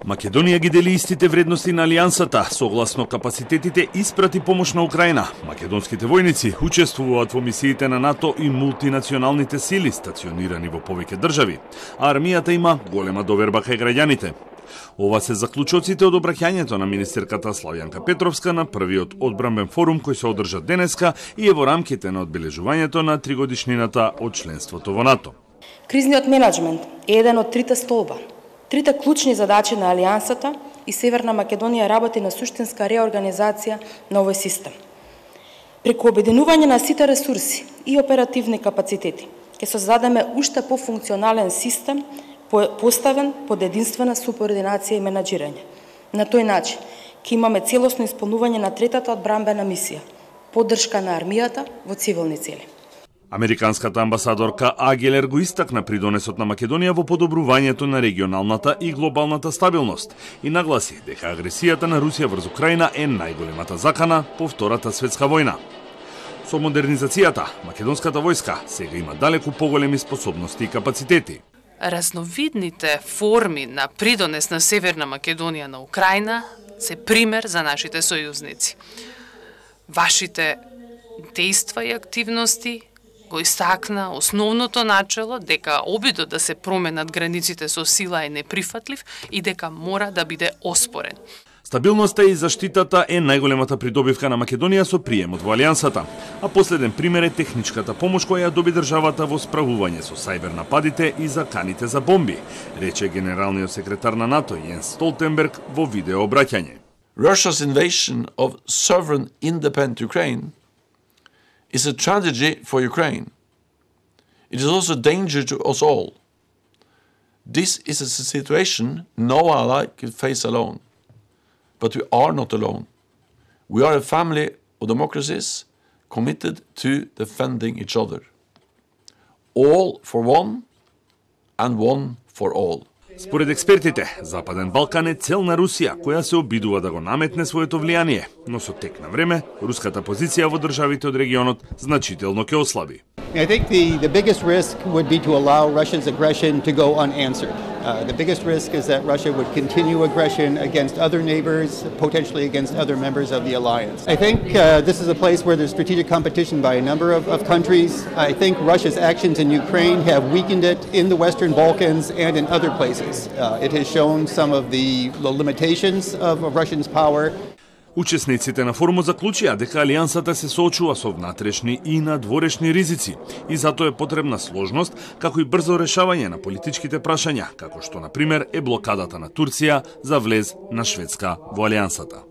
Македонија ги дели истите вредности на алијансата, согласно капацитетите испрати помош на Украина. Македонските војници учествуваат во мисиите на НАТО и мултинационалните сили стационирани во повеќе држави, а армијата има голема доверба кај граѓаните. Ова се заклучоците од обраќањето на министерката Славјанка Петровска на првиот одбранбен форум кој се одржа денеска и е во рамките на одбележувањето на 3-годишнината од членството во НАТО. Кризниот менеджмент е еден од трите столба. Трите клучни задачи на Алијансата и Северна Македонија работи на суштинска реорганизација на овој систем. Преку обединување на сите ресурси и оперативни капацитети, ќе создадеме уште пофункционален систем, поставен под единствена субординација и менаџирање. На тој начин ќе имаме целосно исполнување на третата одбранбена мисија, поддршка на армијата во цивилни цели. Американската амбасадорка Агелер го истакна придонесот на Македонија во подобрувањето на регионалната и глобалната стабилност и нагласи дека агресијата на Русија врз Украина е најголемата закана по Втората светска војна. Со модернизацијата, македонската војска сега има далеку поголеми способности и капацитети. Разновидните форми на придонес на Северна Македонија на Украина се пример за нашите сојузници. Вашите дејства и активности го истакна основното начело дека обидот да се променат границите со сила е неприфатлив и дека мора да биде оспорен. Стабилноста и заштитата е најголемата придобивка на Македонија со приемот во Алијансата, а последен пример е техничката помош која ја доби државата во справување со сајбер нападите и заканите за бомби, рече генералниот секретар на НАТО Јенс Столтенберг во видео обраќање. Russia's invasion of sovereign independent Ukraine is a tragedy for Ukraine. It is also a danger to us all. This is a situation no ally can face alone. But we are not alone. We are a family of democracies committed to defending each other. All for one and one for all. Според експертите, Западен Балкан е цел на Русија, која се обидува да го наметне своето влијание, но со тек на време, руската позиција во државите од регионот значително ќе ослаби. I think the biggest risk would be to allow Russia's aggression to go unanswered. The biggest risk is that Russia would continue aggression against other neighbors, potentially against other members of the alliance. I think this is a place where there's strategic competition by a number of countries. I think Russia's actions in Ukraine have weakened it in the Western Balkans and in other places. It has shown some of the limitations of Russia's power. Учесниците на форумот заклучија дека алијансата се соочува со внатрешни и надворешни ризици и затоа е потребна сложност, како и брзо решавање на политичките прашања, како што на пример е блокадата на Турција за влез на Шведска во алијансата.